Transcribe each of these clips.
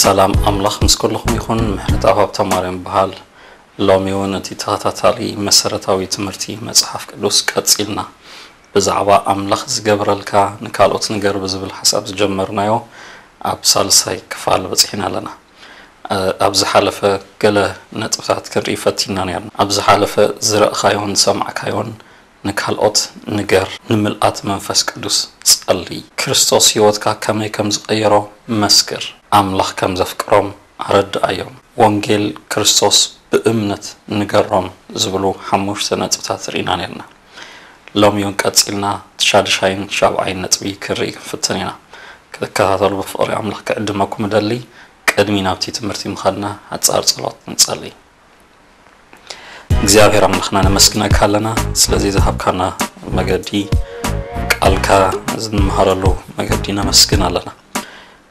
ሰላም ኣምላኽ ምስ ኩልኹም ይኹን። ምሕረት ኣብ ሃብተማርያም ይበሃል። ሎሚ እውን እቲ ተኸታታሊ መሰረታዊ ትምህርቲ መጽሓፍ ቅዱስ ቀጺልና ብዛዕባ ኣምላኽ ዝገብረልካ ንካልኦት ንገር ብዝብል ሓሳብ ዝጀመርናዮ ኣብ ሳልሳይ ክፋል በጺሕና ኣለና። ኣብ ዝሓለፈ ገለ ነጥብታት ክንርኢ ፈቲና ነርና። ኣብ ዝሓለፈ ዝረእኻዮን ዝሰማዕካዮን ንካልኦት ንገር፣ ንምልኣት መንፈስ ቅዱስ ጸሊ፣ ክርስቶስ ህይወትካ ከመይ ከም ዝቐየሮ መስክር፣ ኣምላኽ ከም ዘፍቅሮም ኣረድኣዮም፣ ወንጌል ክርስቶስ ብእምነት ንገሮም ዝብሉ ሓሙሽተ ነጥብታት ርኢና ነርና። ሎሚ እውን ቀጺልና ሻድሻይን ሻብዓይን ነጥቢ ክርኢ ክንፍትን ኢና። ክትከታተሉ ብፍቕሪ ኣምላኽ ክዕድመኩም እደሊ። ቅድሚ ናብቲ ትምህርቲ ምኻድና ሓጻር ጸሎት ንጸሊ። እግዚኣብሔር ኣምላኽና ነመስግነካ ኣለና ስለዚ ዝሃብካና መገዲ፣ ቃልካ ዝንመሃረሉ መገዲ ነመስግን ኣለና።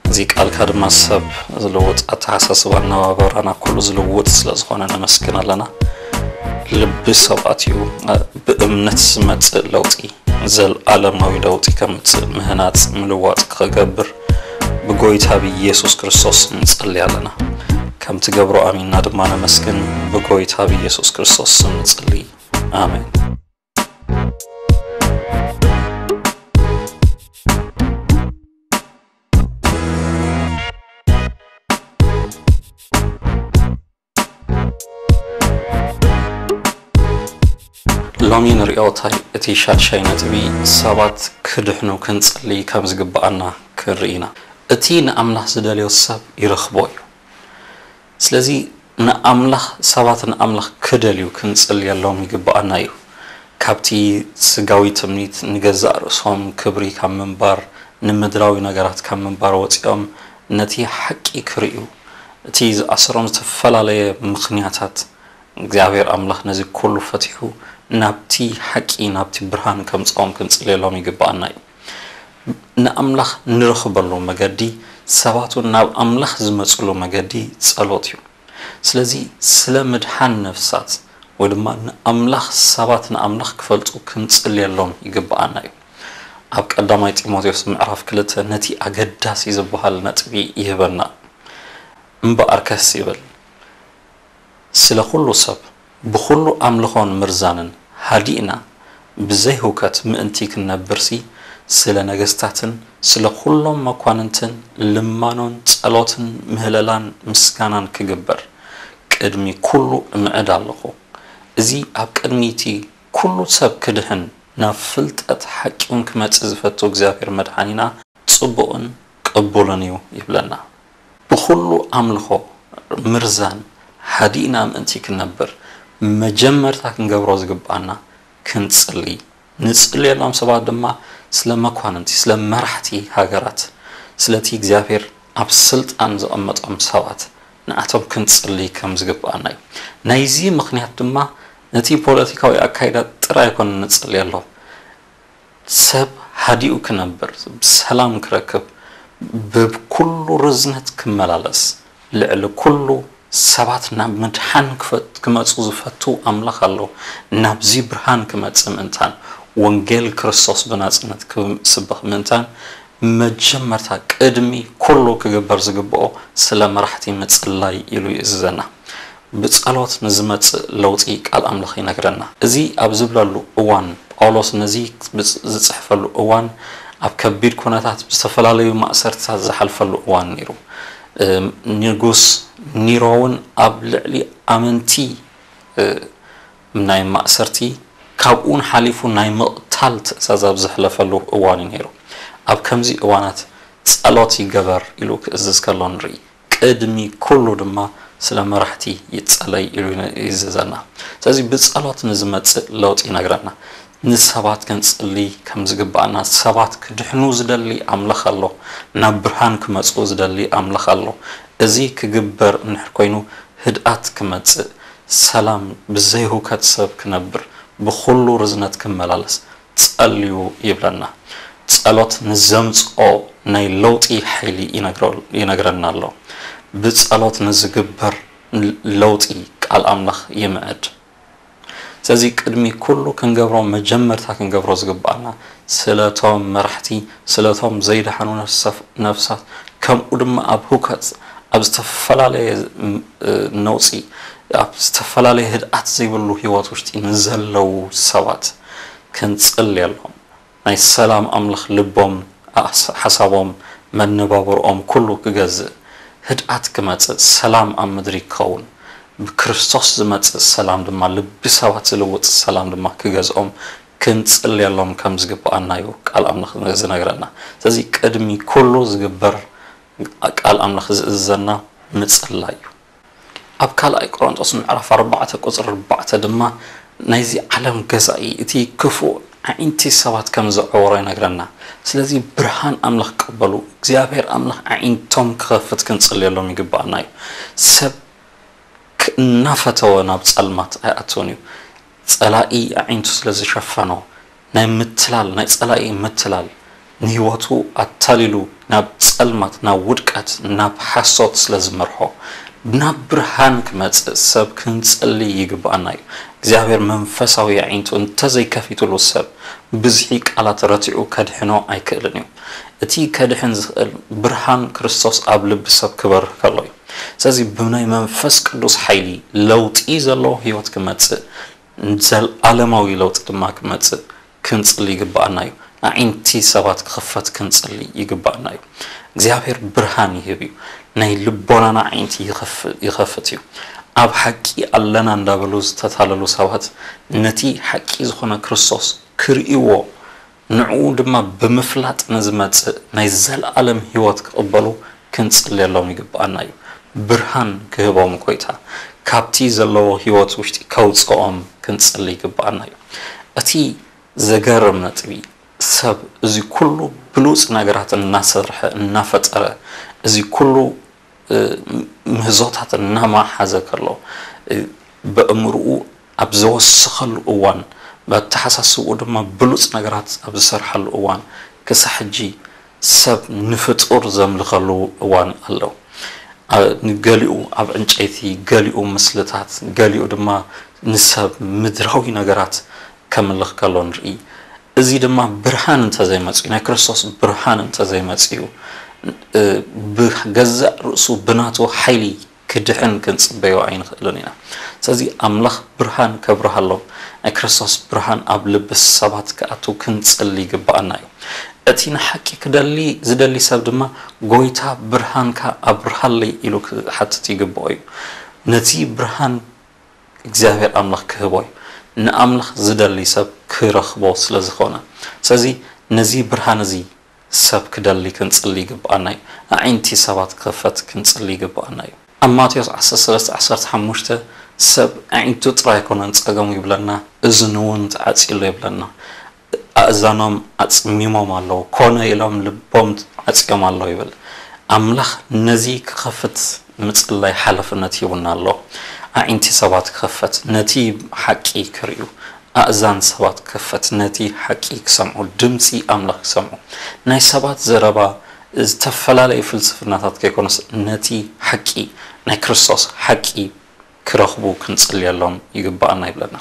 እዚ ቃልካ ድማ ሰብ ዝልውጥ፣ ኣተሓሳስባ ኣነባበራና ኩሉ ዝልውጥ ስለ ዝኾነ ነመስግን ኣለና። ልቢ ሰብ ኣትዩ ብእምነት ዝመጽእ ለውጢ፣ ዘልኣለማዊ ለውጢ ከምጽእ፣ ምህናጽ ምልዋጥ ክገብር ብጎይታ ብኢየሱስ ክርስቶስ ንጸሊ ኣለና። ከም ትገብሮ ኣሚንና ድማ ነመስግን። ብጎይታ ብኢየሱስ ክርስቶስ ስም ንጸሊ። ኣሜን። ሎሚ ንሪኦ እንታይ እቲ ሻድሻይ ነጥቢ ሰባት ክድሕኑ ክንጽሊ ከም ዝግብኣና ክንርኢ ኢና። እቲ ንኣምላኽ ዝደልዮ ሰብ ይረኽቦ እዩ። ስለዚ ንኣምላኽ ሰባት ንኣምላኽ ክደልዩ ክንጽልየሎም ይግብኣና እዩ። ካብቲ ስጋዊ ትምኒት ንገዛእ ርእሶም ክብሪ ካብ ምንባር ንምድራዊ ነገራት ካብ ምንባር ወጺኦም ነቲ ሓቂ ክርእዩ እቲ ዝኣሰሮም ዝተፈላለየ ምኽንያታት እግዚኣብሔር ኣምላኽ ነዚ ኩሉ ፈቲሑ ናብቲ ሓቂ ናብቲ ብርሃን ከምጽኦም ክንጽልየሎም ይግብኣና እዩ። ንኣምላኽ ንረኽበሉ መገዲ ሰባት እውን ናብ ኣምላኽ ዝመጽሉ መገዲ ጸሎት እዩ። ስለዚ ስለ ምድሓን ነፍሳት ወይ ድማ ንኣምላኽ ሰባት ንኣምላኽ ክፈልጡ ክንጽልየሎም ይግብኣና እዩ። ኣብ ቀዳማይ ጢሞቴዎስ ምዕራፍ ክልተ ነቲ ኣገዳሲ ዝበሃል ነጥቢ ይህበና። እምበኣርከስ ይብል ስለ ኩሉ ሰብ ብኹሉ ኣምልኾን ምርዛንን ሃዲእና ብዘይ ህውከት ምእንቲ ክንነብርሲ ስለ ነገስታትን ስለ ኩሎም መኳንንትን ልማኖን ጸሎትን ምህለላን ምስጋናን ክግበር ቅድሚ ኩሉ እምዕድ ኣለኹ። እዚ ኣብ ቅድሚ እቲ ኩሉ ሰብ ክድሕን ናብ ፍልጠት ሓቂውን ክመጽእ ዝፈቱ እግዚኣብሔር መድሓኒና ጽቡቕን ቅቡልን እዩ ይብለና። ብኹሉ ኣምልኾ ምርዛን ሓዲእና ምእንቲ ክንነብር መጀመርታ ክንገብሮ ዝግብኣና ክንጽሊ ንጽልየሎም ሰባት ድማ ስለ መኳንንቲ ስለ መራሕቲ ሃገራት ስለቲ እግዚኣብሔር ኣብ ስልጣን ዘቐመጦም ሰባት ንኣቶም ክንጽሊ ከም ዝግብኣና እዩ። ናይዚ ምኽንያት ድማ ነቲ ፖለቲካዊ ኣካይዳ ጥራይ ኣይኮነ ንጽልየሎም ሰብ ሃዲኡ ክነብር ብሰላም ክረክብ ብኩሉ ርዝነት ክመላለስ ልዕሊ ኩሉ ሰባት ናብ ምድሓን ክመፁ ዝፈቱ ኣምላኽ ኣሎ። ናብዚ ብርሃን ክመፅእ ምእንታን ወንጌል ክርስቶስ ብናፅነት ክስበኽ ምእንታን መጀመርታ ቅድሚ ኩሉ ክግበር ዝግብኦ ስለ መራሕቲ ምፅላይ ኢሉ ይእዝዘና። ብጸሎት ንዝመጽእ ለውጢ ቃል ኣምላኽ ይነግረና። እዚ ኣብ ዝብለሉ እዋን ጳውሎስ ነዚ ዝጽሕፈሉ እዋን ኣብ ከቢድ ኩነታት ብዝተፈላለዩ ማእሰርትታት ዝሓልፈሉ እዋን ነይሩ። ንጉስ ኒሮ እውን ኣብ ልዕሊ ኣመንቲ ናይ ማእሰርቲ ካብኡን ሓሊፉ ናይ ምቕታል ትእዛዝ ኣብ ዘሕለፈሉ እዋን እዩ ነይሩ። ኣብ ከምዚ እዋናት ጸሎት ይገበር ኢሉ ክእዝዝ ከሎ ንርኢ። ቅድሚ ኩሉ ድማ ስለ መራሕቲ ይጸለይ ኢሉ ይእዝዘና። ስለዚ ብጸሎት ንዝመጽእ ለውጢ ይነግረና። ንሰባት ክንጽሊ ከም ዝግባኣና፣ ሰባት ክድሕኑ ዝደሊ ኣምላኽ ኣሎ፣ ናብ ብርሃን ክመጽኡ ዝደሊ ኣምላኽ ኣሎ። እዚ ክግበር እንድሕር ኮይኑ፣ ህድኣት ክመጽእ፣ ሰላም፣ ብዘይ ሁከት ሰብ ክነብር፣ ብኹሉ ርዝነት ክመላለስ ጸልዩ ይብለና። ጸሎት ንዘምጽኦ ናይ ለውጢ ሓይሊ ይነግረ-፣ ይነግረና ኣሎ። ብጸሎት ንዝግበር ለውጢ ቃል ኣምላኽ ይምዕድ። ስለዚ ቅድሚ ኩሉ ክንገብሮ፣ መጀመርታ ክንገብሮ ዝግባኣና ስለቶም መራሕቲ፣ ስለቶም ዘይደሓኑ ነፍሰፍ-፣ ነፍሳት፣ ከምኡ ድማ ኣብ ሁከት፣ ኣብ ዝተፈላለየ ም-፣ እ፣ ነውጺ፣ ኣብ ዝተፈላለየ ህድኣት ዘይብሉ ህይወት ውሽጢ ንዘለዉ ሰባት ክንጽልየሎም። ናይ ሰላም ኣምላኽ ልቦም፣ ኣስ-፣ ሓሳቦም፣ መነባብርኦም ኩሉ ክገዝእ፣ ህድኣት ክመጽእ፣ ሰላም ኣብ ምድሪ ክኸውን፣ ብክርስቶስ ዝመጽእ ሰላም ድማ፣ ልቢ ሰባት ዝልውጥ ሰላም ድማ ክገዝኦም ክንጽልየሎም ከም ዝግብኣና እዩ ቃል ኣምላኽ ዝነግረና። ስለዚ ቅድሚ ኩሉ ዝግበር ቃል ኣምላኽ ዝእዝዘና ምጽላይ እዩ። ኣብ ካልኣይ ቆሮንቶስ ምዕራፍ ኣርባዕተ ቁጽሪ ኣርባዕተ ድማ ናይዚ ዓለም ገዛኢ እቲ ክፉእ ኣዒንቲ ሰባት ከም ዘዕወሮ ይነግረና። ስለዚ ብርሃን ኣምላኽ ቅበሉ። እግዚኣብሔር ኣምላኽ ኣዒንቶም ክኸፍት ክንጽልየሎም ይግባኣና እዩ። ሰብ ክ-፣ እናፈተወ ናብ ጸልማት ኣይኣትውን እዩ። ጸላኢ ኣዒንቱ ስለ ዝሸፈኖ፣ ናይ ምትላል፣ ናይ ጸላኢ ምትላል ንህይወቱ ኣታሊሉ ናብ ጸልማት፣ ናብ ውድቀት፣ ናብ ሓሶት ስለ ዝመርሖ፣ ናብ ብርሃን ክመጽእ ሰብ ክንጽሊ ይግብኣና እዩ። እግዚኣብሔር መንፈሳዊ ኣዒንቱ እንተዘይከፊትሉ ሰብ ብዝሒ ቃላት ረቲዑ ከድሕኖ ኣይክእልን እዩ። እቲ ከድሕን ዝኽእል ብርሃን ክርስቶስ ኣብ ልቢ ሰብ ክበርህ ከሎ እዩ። ስለዚ ብናይ መንፈስ ቅዱስ ሓይሊ ለውጢ ዘለዎ ህይወት ክመጽእ፣ ዘልኣለማዊ ለውጢ ድማ ክመጽእ ክንጽሊ ይግብኣና እዩ። ኣዒንቲ ሰባት ክኽፈት ክንጽሊ ይግብኣና እዩ። እግዚኣብሔር ብርሃን ይህብ እዩ። ናይ ልቦናና ኣዒንቲ ይኸፍ-፣ ይኸፍት እዩ። ኣብ ሓቂ ኣለና እንዳበሉ ዝተታለሉ ሰባት ነቲ ሓቂ ዝኾነ ክርስቶስ ክርእይዎ፣ ንዕኡ ድማ ብምፍላጥ ንዝመጽእ ናይ ዘለኣለም ህይወት ክቕበሉ ክንጽልየሎም ይግብኣና እዩ። ብርሃን ክህቦም ጎይታ፣ ካብቲ ዘለዎ ህይወት ውሽጢ ከውጽኦም ክንጽሊ ይግብኣና እዩ። እቲ ዘገርም ነጥቢ፣ ሰብ እዚ ኩሉ ብሉጽ ነገራት እናሰርሐ፣ እናፈጠረ፣ እዚ ኩሉ፣ እ፣ ምህዞታት እናመሓዘ ከሎ፣ እ፣ በእምርኡ ኣብ ዘወሰኸሉ እዋን፣ በተሓሳስብኡ ድማ ብሉጽ ነገራት ኣብ ዝሰርሓሉ እዋን፣ ክሳብ ሕጂ ሰብ ንፍጡር ዘምልኸሉ እዋን ኣሎ። ኣ-፣ ንገሊኡ ኣብ ዕንጨይቲ፣ ገሊኡ ምስልታት፣ ገሊኡ ድማ ንሰብ ምድራዊ ነገራት ከምልኽ ከሎ ንርኢ። እዚ ድማ ብርሃን እንተዘይመጽኡ፣ ናይ ክርስቶስ ብርሃን እንተዘይመጽኡ፣ እ፣ ብገዛእ ርእሱ ብናቱ ሓይሊ ክድሕን ክንጽበዮ ኣይንኽእልን ኢና። ስለዚ ኣምላኽ ብርሃን ከብርሃሎም፣ ናይ ክርስቶስ ብርሃን ኣብ ልቢ ሰባት ክኣቱ ክንጽሊ ይግብኣና እዩ። እቲ ንሓቂ ክደሊ ዝደሊ ሰብ ድማ፣ "ጎይታ ብርሃንካ ኣብርሃለይ" ኢሉ ክሓትት ይግብኦ እዩ። ነቲ ብርሃን እግዚኣብሔር ኣምላኽ ክህቦ እዩ። ንኣምላኽ ዝደሊ ሰብ ክረኽቦ ስለ ዝኾነ። ስለዚ ነዚ ብርሃን እዚ ሰብ ክደሊ ክንጽሊ ይግብኣና እዩ። ኣዒንቲ ሰባት ክኸፈት ክንጽሊ ይግብኣና እዩ። ኣብ ማቴዎስ ዓሰርተ ሰለስተ ዓሰርተ ሓሙሽተ ሰብ ኣዒንቱ ጥራይ ኣይኮነን ጸገሙ ይብለና፣ እዝኑ እውን ተዓጽዩሉ ይብለና። ኣእዛኖም ኣጽሚሞም ኣለዉ፣ ኮነ ኢሎም ልቦም ዓጽዮም ኣለዉ ይብል። ኣምላኽ ነዚ ክኸፍት ምጽላይ ሓላፍነት ሂቡና ኣሎ። ኣዒንቲ ሰባት ክኸፈት፣ ነቲ ሓቂ ክርእዩ፣ ኣእዛን ሰባት ክኸፈት፣ ነቲ ሓቂ ክሰምዑ፣ ድምጺ ኣምላኽ ክሰምዑ። ናይ ሰባት ዘረባ፣ ዝተፈላለዩ ፍልስፍናታት ከይኮነስ፣ ነቲ ሓቂ፣ ናይ ክርስቶስ ሓቂ ክረኽቡ ክንጽልየሎም ይግብኣና ይብለና።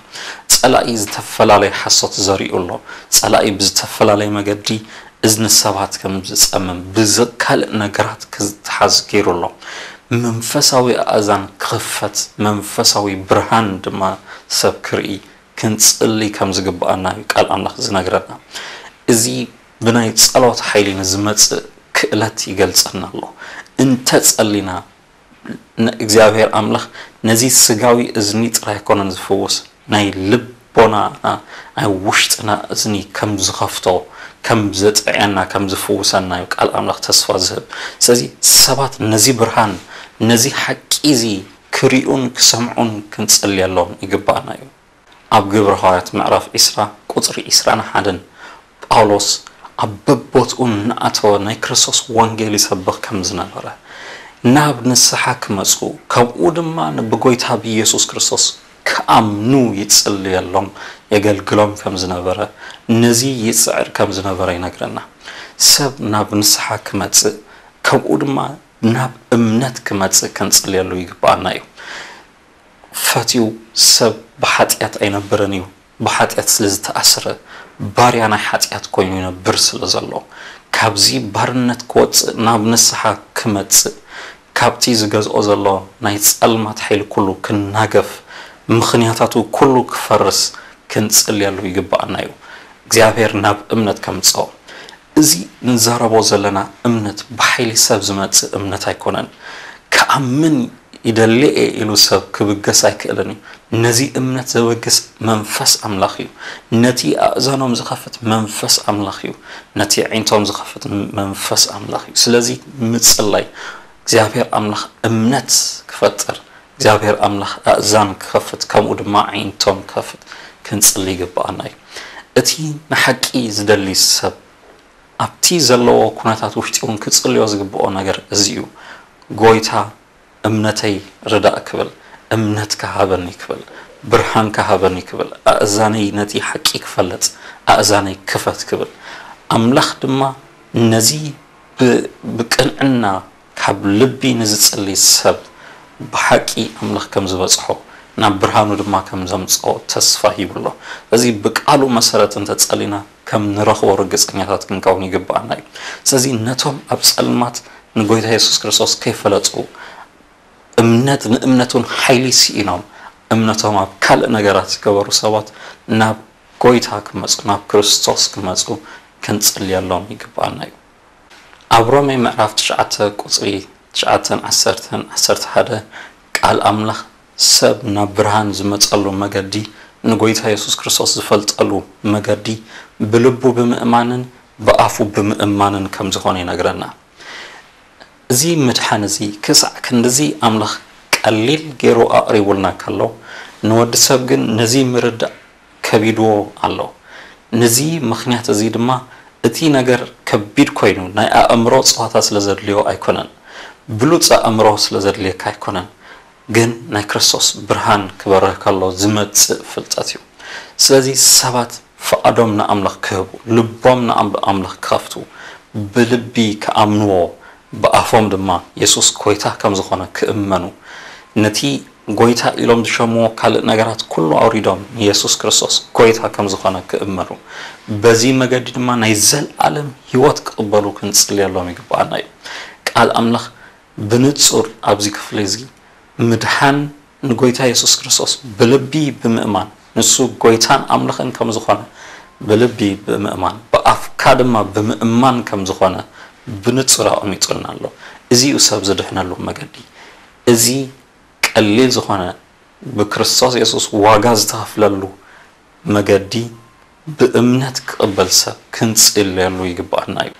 ጸላኢ ዝተፈላለየ ሓሶት ዘሪኡ ኣሎ። ጸላኢ ብዝተፈላለየ መገዲ እዝኒ ሰባት ከም ዝጸምም፣ ብዝ-፣ ካልእ ነገራት ክዝተሓዝ ገይሩ ኣሎ። መንፈሳዊ ኣእዛን ክኽፈት፣ መንፈሳዊ ብርሃን ድማ ሰብ ክርኢ ክንጽሊ ከም ዝግብኣና እዩ ቃል ኣምላኽ ዝነግረና። እዚ ብናይ ጸሎት ሓይሊ ንዝመጽእ ክእለት ይገልጸና ኣሎ። እንተ ጸሊና፣ ን-፣ እግዚኣብሔር ኣምላኽ ነዚ ስጋዊ እዝኒ ጥራይ ኣይኮነን ዝፍውስ፣ ናይ ልቦናና፣ ናይ ውሽጥና እዝኒ ከም ዝኸፍቶ፣ ከም ዘጥዕየና፣ ከም ዝፍውሰና እዩ ቃል ኣምላኽ ተስፋ ዝህብ። ስለዚ ሰባት ነዚ ብርሃን፣ ነዚ ሓቂ እዚ ክሪኡን ክሰምዑን ክንጽልየሎም ይግባኣና እዩ። ኣብ ግብረ ሃዋርያት ምዕራፍ ዕስራ ቁጽሪ ዕስራን ሓደን ጳውሎስ ኣብ በቦትኡ እናኣተወ ናይ ክርስቶስ ወንጌል ይሰብኽ ከም ዝነበረ፣ ናብ ንስሓ ክመጹ፣ ከምኡ ድማ ብጎይታ ብኢየሱስ ክርስቶስ ክኣምኑ ይጽልየሎም፣ የገልግሎም ከም ዝነበረ፣ ነዚ ይጽዕር ከም ዝነበረ ይነግረና። ሰብ ናብ ንስሓ ክመጽእ፣ ከምኡ ድማ ናብ እምነት ክመጽእ ክንጽልየሉ ይግብኣና እዩ። ፈትዩ ሰብ ብሓጢኣት ኣይነብርን እዩ። ብሓጢኣት ስለ ዝተኣስረ፣ ባርያ ናይ ሓጢኣት ኮይኑ ይነብር ስለ ዘሎ፣ ካብዚ ባርነት ክወጽእ፣ ናብ ንስሓ ክመጽእ፣ ካብቲ ዝገዝኦ ዘሎ ናይ ጸልማት ሓይሊ ኩሉ ክናገፍ፣ ምኽንያታቱ ኩሉ ክፈርስ ክንጽልየሉ ይግብኣና እዩ። እግዚኣብሔር ናብ እምነት ከምጽኦ። እዚ ንዛረቦ ዘለና እምነት ብሓይሊ ሰብ ዝመጽእ እምነት ኣይኮነን። ክኣምን ይደሊ እየ ኢሉ ሰብ ክብገስ ኣይክእልን እዩ። ነዚ እምነት ዘበግስ መንፈስ ኣምላኽ እዩ። ነቲ ኣእዛኖም ዝኸፍት መንፈስ ኣምላኽ እዩ። ነቲ ኣዒንቶም ዝኸፍት መንፈስ ኣምላኽ እዩ። ስለዚ ምጽላይ እግዚኣብሔር ኣምላኽ እምነት ክፈጥር፣ እግዚኣብሔር ኣምላኽ ኣእዛን ክኸፍት፣ ከምኡ ድማ ኣዒንቶም ክኸፍት ክንጽሊ ይግብኣና እዩ። እቲ ንሓቂ ዝደሊ ሰብ ኣብቲ ዘለዎ ኩነታት ውሽጢ እውን ክጽልዮ ዝግብኦ ነገር እዚ እዩ። ጎይታ እምነተይ ርዳእ ክብል፣ እምነት ክሃበኒ ክብል፣ ብርሃን ክሃበኒ ክብል፣ ኣእዛነይ ነቲ ሓቂ ክፈልጥ ኣእዛነይ ክፈት ክብል። ኣምላኽ ድማ ነዚ ብ-፣ ብቅንዕና ካብ ልቢ ንዝጽሊ ሰብ ብሓቂ ኣምላኽ ከም ዝበጽሖ፣ ናብ ብርሃኑ ድማ ከም ዘምጽኦ ተስፋ ሂቡ ኣሎ። ስለዚ ብቃሉ መሰረት እንተጸሊና ከም ንረኽቦ ርግጸኛታት ክንከውን ይግብኣና እዩ። ስለዚ ነቶም ኣብ ጸልማት ንጎይታ የሱስ ክርስቶስ ከይፈለጡ፣ እምነት ንእምነቱን ሓይሊ ስኢኖም፣ እምነቶም ኣብ ካልእ ነገራት ዝገበሩ ሰባት ናብ ጎይታ ክመጹ፣ ናብ ክርስቶስ ክመጹ ክንጽልየሎም ይግብኣና እዩ። ኣብ ሮሜ ምዕራፍ ትሽዓተ ቁጽሪ ትሽዓተን ዓሰርተን፣ ዓሰርተ ሓደ ቃል ኣምላኽ ሰብ ናብ ብርሃን ዝመጸሉ መገዲ፣ ንጎይታ የሱስ ክርስቶስ ዝፈልጠሉ መገዲ፣ ብልቡ ብምእማንን ብኣፉ ብምእማንን ከም ዝኾነ ይነግረና። እዚ ምድሓን እዚ ክሳዕ ክንድዚ ኣምላኽ ቀሊል ገይሩ ኣቕሪቡልና ከሎ፣ ንወዲ ሰብ ግን ነዚ ምርዳእ ከቢድዎ ኣሎ። ነዚ ምኽንያት እዚ ድማ እቲ ነገር ከቢድ ኮይኑ ናይ ኣእምሮ ጸዋታ ስለ ዘድልዮ ኣይኮነን። ብሉጽ ኣእምሮ ስለ ዘድልየካ ኣይኮነን። ግን ናይ ክርስቶስ ብርሃን ክበርህ ከሎ ዝመጽእ ፍልጠት እዩ። ስለዚ ሰባት ፍቓዶም ንኣምላኽ ክህቡ፣ ልቦም ንኣም-፣ ኣምላኽ ክኸፍቱ፣ ብልቢ ክኣምንዎ፣ ብኣፎም ድማ የሱስ ጎይታ ከም ዝኾነ ክእመኑ፣ ነቲ ጎይታ ኢሎም ዝሸምዎ ካልእ ነገራት ኩሉ ኣውሪዶም ንየሱስ ክርስቶስ ጎይታ ከም ዝኾነ ክእመኑ፣ በዚ መገዲ ድማ ናይ ዘለኣለም ህይወት ክቕበሉ ክንጽልየሎም ይግብኣና እዩ። ቃል ኣምላኽ ብንጹር ኣብዚ ክፍሊ እዚ ምድሓን ንጎይታ የሱስ ክርስቶስ ብልቢ ብምእማን፣ ንሱ ጎይታን ኣምላኽን ከም ዝኾነ ብልቢ ብምእማን፣ ብኣፍካ ድማ ብምእማን ከም ዝኾነ ብንጹር ኣቐሚጡልና ኣሎ። እዚ እዩ ሰብ ዝድሕነሉ መገዲ። እዚ ቀሊል ዝኾነ ብክርስቶስ የሱስ ዋጋ ዝተኸፍለሉ መገዲ ብእምነት ክቕበል ሰብ ክንጽልየሉ ይግብኣና እዩ።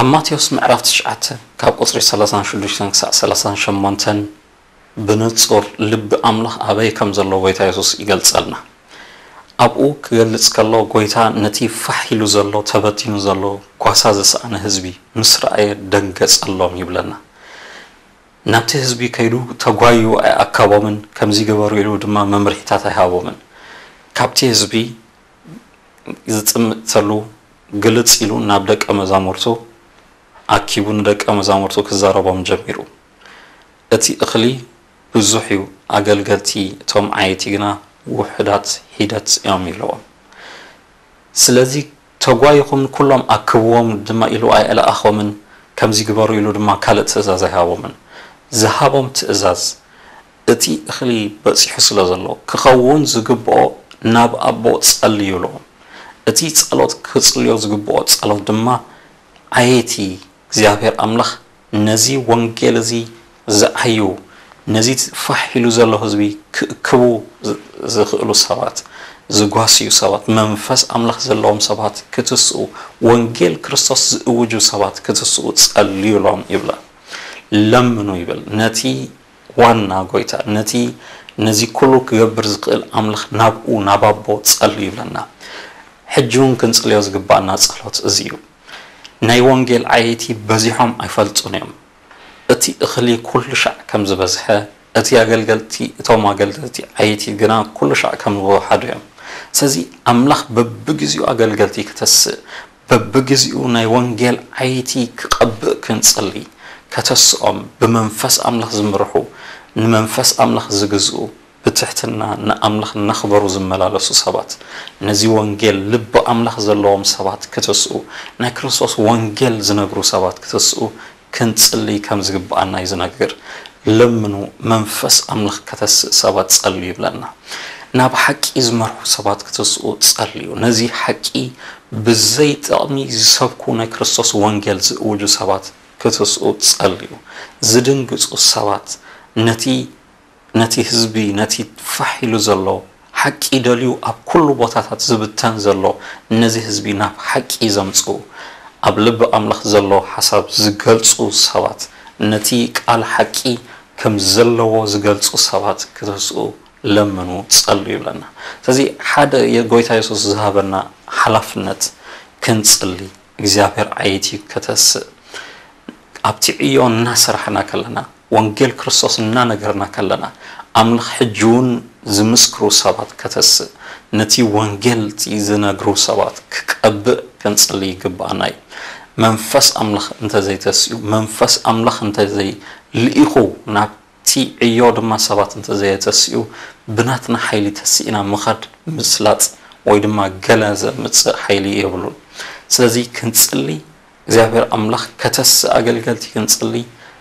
ኣብ ማቴዎስ ምዕራፍ ትሽዓተ ካብ ቁጽሪ ሰላሳን ሽዱሽተን ክሳዕ ሰላሳን ሸሞንተን ብንጹር ልቢ ኣምላኽ ኣበይ ከም ዘሎ ጎይታ የሱስ ይገልጸልና። ኣብኡ ክገልጽ ከሎ፣ ጎይታ ነቲ ፋሕ ኢሉ ዘሎ፣ ተበቲኑ ዘሎ፣ ጓሳ ዝሰኣነ ህዝቢ ምስ ረኣየ ደንገጸሎም ይብለና። ናብቲ ህዝቢ ከይዱ ተጓዩ ኣይኣከቦምን፣ ከምዚ ግበሩ ኢሉ ድማ መምርሒታት ኣይሃቦምን። ካብቲ ህዝቢ ዝጥምተሉ ግልጽ ኢሉ ናብ ደቀ መዛሙርቱ ኣኪቡ ንደቀ መዛሙርቱ ክዛረቦም ጀሚሩ። እቲ እኽሊ ብዙሕ እዩ፣ ኣገልገልቲ እቶም ዓየይቲ ግና ውሑዳት ሒደት እዮም ኢልዎም። ስለዚ ተጓይኹም ንኩሎም ኣክብዎም ድማ ኢሉ ኣይለኣኾምን፣ ከምዚ ግበሩ ኢሉ ድማ ካልእ ትእዛዝ ኣይሃቦምን። ዝሃቦም ትእዛዝ እቲ እኽሊ በጺሑ ስለ ዘሎ ክኸውን ዝግብኦ ናብ ኣቦ ጸልዩ ኢልዎም። እቲ ጸሎት ክጽልዮ ዝግብኦ ጸሎት ድማ ዓየይቲ እግዚኣብሔር ኣምላኽ ነዚ ወንጌል እዚ ዝዓዩ፣ ነዚ ፋሕ ኢሉ ዘሎ ህዝቢ ክእክቡ ዝ-፣ ዝኽእሉ ሰባት፣ ዝጓስዩ ሰባት፣ መንፈስ ኣምላኽ ዘለዎም ሰባት ክትስኡ፣ ወንጌል ክርስቶስ ዝእውጁ ሰባት ክትስኡ ጸልዩሎም ይብላ። ለምኑ ይብል። ነቲ ዋና ጎይታ፣ ነቲ ነዚ ኩሉ ክገብር ዝኽእል ኣምላኽ ናብኡ፣ ናብ ኣቦ ጸልዩ ይብለና። ሕጂ እውን ክንጽልዮ ዝግባኣና ጸሎት እዚ እዩ። ናይ ወንጌል ዓየይቲ በዚሖም ኣይፈልጡን እዮም። እቲ እኽሊ ኩሉ ሻዕ ከም ዝበዝሐ፣ እቲ ኣገልገልቲ፣ እቶም ኣገልገልቲ ዓየይቲ ግና ኩሉ ሻዕ ከም ዝወሓዱ እዮም። ስለዚ ኣምላኽ በብግዜኡ ኣገልገልቲ ክተስእ፣ በብግዜኡ ናይ ወንጌል ዓየይቲ ክቐብእ ክንጽሊ፣ ከተስኦም፣ ብመንፈስ ኣምላኽ ዝምርሑ፣ ንመንፈስ ኣምላኽ ዝግዝኡ፣ ብትሕትና ንኣምላኽ እናኽበሩ ዝመላለሱ ሰባት፣ ነዚ ወንጌል ልቢ ኣምላኽ ዘለዎም ሰባት ክትስኡ፣ ናይ ክርስቶስ ወንጌል ዝነግሩ ሰባት ክትስኡ ክንጽሊ ከም ዝግብኣና እዩ ዝነግር። ለምኑ፣ መንፈስ ኣምላኽ ከተስእ ሰባት ጸልዩ ይብለና። ናብ ሓቂ ዝመርሑ ሰባት ክትስኡ ጸልዩ። ነዚ ሓቂ ብዘይ ጥቕሚ ዝሰብኩ ናይ ክርስቶስ ወንጌል ዝእውጁ ሰባት ክትስኡ ጸልዩ። ዝድንግጹ ሰባት፣ ነቲ ነቲ ህዝቢ፣ ነቲ ፋሕ ኢሉ ዘሎ ሓቂ ደልዩ ኣብ ኩሉ ቦታታት ዝብተን ዘሎ፣ ነዚ ህዝቢ ናብ ሓቂ ዘምጽኡ፣ ኣብ ልቢ ኣምላኽ ዘሎ ሓሳብ ዝገልጹ ሰባት፣ ነቲ ቃል ሓቂ ከም ዘለዎ ዝገልጹ ሰባት ክትስኡ ለምኑ፣ ጸልዩ ይብለና። ስለዚ ሓደ የጎይታ የሱስ ዝሃበና ሓላፍነት ክንጽሊ፣ እግዚኣብሔር ዓየይቲ ከተስእ። ኣብቲ ዕዮ እናሰራሕና ከለና፣ ወንጌል ክርስቶስ እናነገርና ከለና፣ ኣምላኽ ሕጂ እውን ዝምስክሩ ሰባት ከተስእ፣ ነቲ ወንጌል ዝነግሩ ሰባት ክቀብእ ክንጽሊ ይግብኣና እዩ። መንፈስ ኣምላኽ እንተዘይተስኡ፣ መንፈስ ኣምላኽ እንተዘይልኢኹ፣ ናብቲ ዕዮ ድማ ሰባት እንተዘየተስኡ፣ ብናትና ሓይሊ ተስኢና ምኻድ፣ ምስላጥ ወይ ድማ ገለ ዘምጽእ ሓይሊ የብሉን። ስለዚ ክንጽሊ እግዚኣብሔር ኣምላኽ ከተስእ ኣገልገልቲ ክንጽሊ፣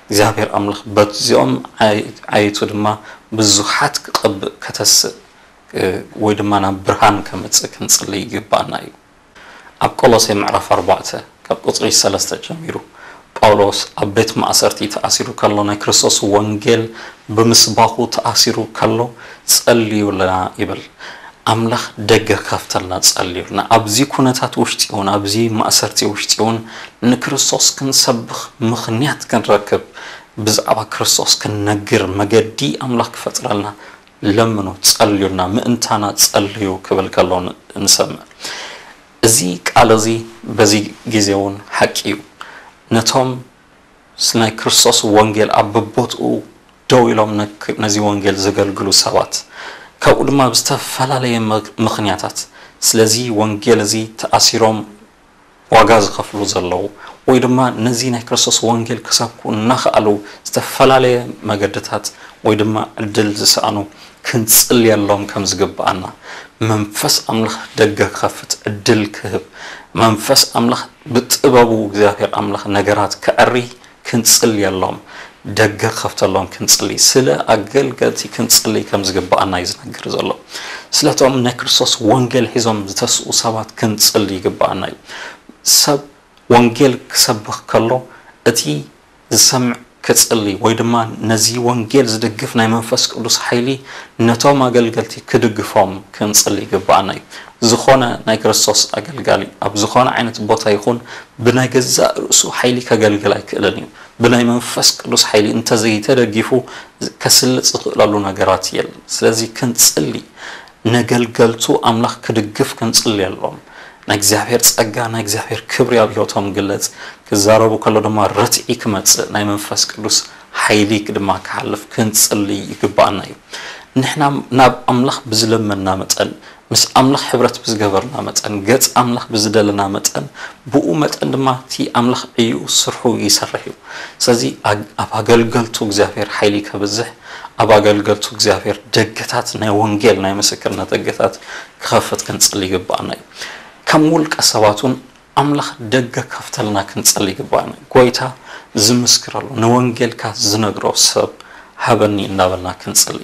እግዚኣብሔር ኣምላኽ በዚኦም ዓይ-፣ ዓየቱ ድማ ብዙሓት ክቐብእ ከተስእ፣ እ፣ ወይ ድማ ናብ ብርሃን ከምጽእ ክንጽሊ ይግባኣና እዩ። ኣብ ቆሎሴ ምዕራፍ ኣርባዕተ ካብ ቁጽሪ ሰለስተ ጀሚሩ ጳውሎስ ኣብ ቤት ማእሰርቲ ተኣሲሩ ከሎ ናይ ክርስቶስ ወንጌል ብምስባኹ ተኣሲሩ ከሎ ጸልዩልና ይብል። ኣምላኽ ደገ ክኸፍተልና ጸልዩልና። ኣብዚ ኩነታት ውሽጢ እውን፣ ኣብዚ ማእሰርቲ ውሽጢ እውን ንክርስቶስ ክንሰብኽ ምኽንያት ክንረክብ፣ ብዛዕባ ክርስቶስ ክንነግር መገዲ ኣምላኽ ክፈጥረልና ለምኑ፣ ጸልዩልና፣ ምእንታና ጸልዩ ክብል ከሎ ን-፣ ንሰምዕ። እዚ ቃል እዚ በዚ ግዜ እውን ሓቂ እዩ። ነቶም ስ-፣ ናይ ክርስቶስ ወንጌል ኣብ በቦትኡ ደው ኢሎም ነክ-፣ ነዚ ወንጌል ዘገልግሉ ሰባት፣ ካብኡ ድማ ብዝተፈላለየ ምክ-፣ ምኽንያታት ስለዚ ወንጌል እዚ ተኣሲሮም ዋጋ ዝኸፍሉ ዘለዉ፣ ወይ ድማ ነዚ ናይ ክርስቶስ ወንጌል ክሰብኩ እናኸኣሉ ዝተፈላለየ መገድታት ወይ ድማ ዕድል ዝሰኣኑ ክንጽልየሎም ከም ዝግብኣና፣ መንፈስ ኣምላኽ ደገ ክኸፍት ዕድል ክህብ፣ መንፈስ ኣምላኽ ብጥበቡ እግዚኣብሔር ኣምላኽ ነገራት ከዐሪ ክንጽልየሎም፣ ደገ ክኸፍተሎም ክንጽሊ፣ ስለ ኣገልገልቲ ክንጽሊ ከም ዝግብኣና እዩ ዝነግር ዘሎ። ስለቶም ናይ ክርስቶስ ወንጌል ሒዞም ዝተስኡ ሰባት ክንጽሊ ይግብኣና እዩ። ሰብ ወንጌል ክሰብኽ ከሎ እቲ ዝሰምዕ ክጽሊ ወይ ድማ ነዚ ወንጌል ዝድግፍ ናይ መንፈስ ቅዱስ ሓይሊ ነቶም ኣገልገልቲ ክድግፎም ክንጽሊ ይግብኣና እዩ። ዝኾነ ናይ ክርስቶስ ኣገልጋሊ ኣብ ዝኾነ ዓይነት ቦታ ይኹን ብናይ ገዛእ ርእሱ ሓይሊ ከገልግል ኣይክእልን እዩ። ብናይ መንፈስ ቅዱስ ሓይሊ እንተዘይተደጊፉ ከስልጥ ዝኽእለሉ ነገራት የለን። ስለዚ ክንጽሊ፣ ነገልገልቱ ኣምላኽ ክድግፍ ክንጽልየሎም፣ ናይ እግዚኣብሔር ጸጋ፣ ናይ እግዚኣብሔር ክብሪ ኣብ ህይወቶም ግለጽ፣ ክዛረቡ ከሎ ድማ ርትዒ ክመጽእ፣ ናይ መንፈስ ቅዱስ ሓይሊ ድማ ክሓልፍ ክንጽሊ ይግብኣና እዩ። ንሕና ናብ ኣምላኽ ብዝለመንና መጠን፣ ምስ ኣምላኽ ሕብረት ብዝገበርና መጠን፣ ገጽ ኣምላኽ ብዝደለና መጠን፣ ብኡ መጠን ድማ እቲ ኣምላኽ ዕዩ ስርሑ ይሰርሕ እዩ። ስለዚ ኣግ-፣ ኣብ ኣገልገልቱ እግዚኣብሔር ሓይሊ ከብዝሕ፣ ኣብ ኣገልገልቱ እግዚኣብሔር ደገታት ናይ ወንጌል ናይ ምስክርነት ደገታት ክኸፍት ክንጽሊ ይግብኣና እዩ። ከም ውልቀ ሰባት እውን ኣምላኽ ደገ ከፍተልና ክንጽሊ ይግብኣና እዩ። ጎይታ ዝምስክረሉ፣ ንወንጌልካ ዝነግሮ ሰብ ሃበኒ እናበልና ክንጽሊ።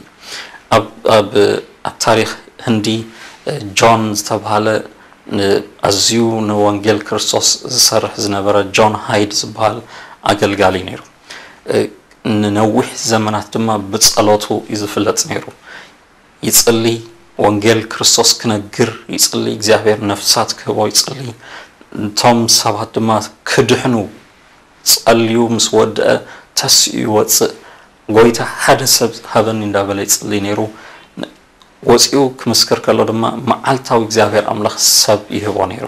ኣብ፣ ኣብ፣ ኣብ ታሪኽ ህንዲ፣ እ፣ ጆን ዝተባህለ፣ ን-፣ ኣዝዩ ንወንጌል ክርስቶስ ዝሰርሕ ዝነበረ ጆን ሃይድ ዝበሃል ኣገልጋሊ ነይሩ። እ፣ ንነዊሕ ዘመናት ድማ ብጸሎቱ እዩ ዝፍለጥ ነይሩ። ይጽሊ፣ ወንጌል ክርስቶስ ክነግር ይጽሊ፣ እግዚኣብሔር ነፍሳት ክህቦ ይጽሊ። እቶም ሰባት ድማ ክድሕኑ ጸልዩ ምስ ወድአ ተሲኡ ይወጽእ። ጎይታ ሓደ ሰብ ሃበኒ እንዳበለ ይጽሊ ነይሩ። ን-፣ ወፂኡ ክምስክር ከሎ ድማ መዓልታዊ እግዚኣብሔር ኣምላኽ ሰብ ይህቦ ነይሩ።